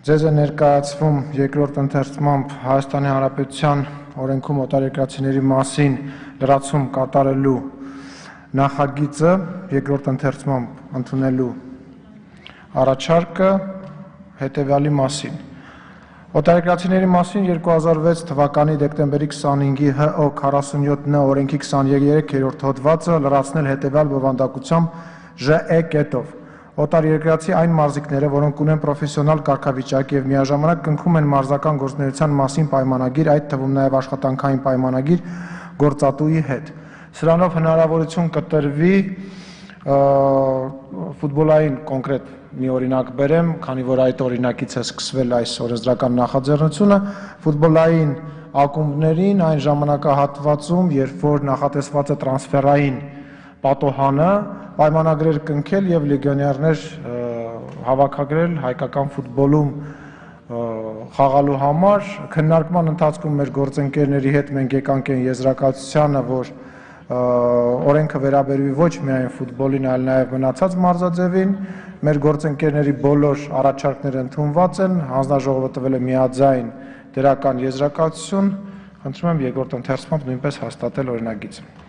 Ձեզ է ներկայացվում երկրորդ ընթերցմամբ Հայաստանի Հանրապետության օրենքում օտարերկրացիների մասին լրացում կատարելու նախագիծը երկրորդ ընթերցմամբ ընդունելու առաջարկը հետևյալի մասին։ Օտարերկրացիների մասին 2006 թվականի դեկտեմբերի 25-ի ՀՕ 47Ն օրենքի 23-րդ հոդվածը լրացնել հետևյալ բովանդակությամբ ԺԷ կետով։ Օտարերկրացի այն մարզիկները, որոնք ունեն պրոֆեսիոնալ կարգավիճակ եւ միաժամանակ կնքում են մարզական գործունեության մասին պայմանագիր, այդ թվում նաեւ աշխատանքային պայմանագիր գործատուի հետ։ Սրանով հնարավորություն կտրվի ֆուտբոլային կոնկրետ մի օրինակ բերեմ, քանի որ այդ օրինակից է սկսվել այս օրենսդրական նախաձեռնությունը, ֆուտբոլային ակումբներին այն ժամանակահատվածում, երբ որ նախատեսված է տրանսֆերային պատոհանը, պայմանագրեր կնքել եւ լեգիոներներ հավաքագրել հայկական ֆուտբոլում խաղալու համար։ Քննարկման ընթացքում մեր գործընկերների հետ մենք եկանք այն եզրակացությանը, որ օրենքը վերաբերվի ոչ միայն ֆուտբոլին, այլ նաեւ մնացած մարզաձևին։ Մեր գործընկերների բոլոր առաջարկները ընդունված են, հանձնաժողովը տվել է միաձայն դրական եզրակացություն։ Խնդրում եմ երկրորդ ընթերցմամբ նույնպես հաստատել օրինագիծը։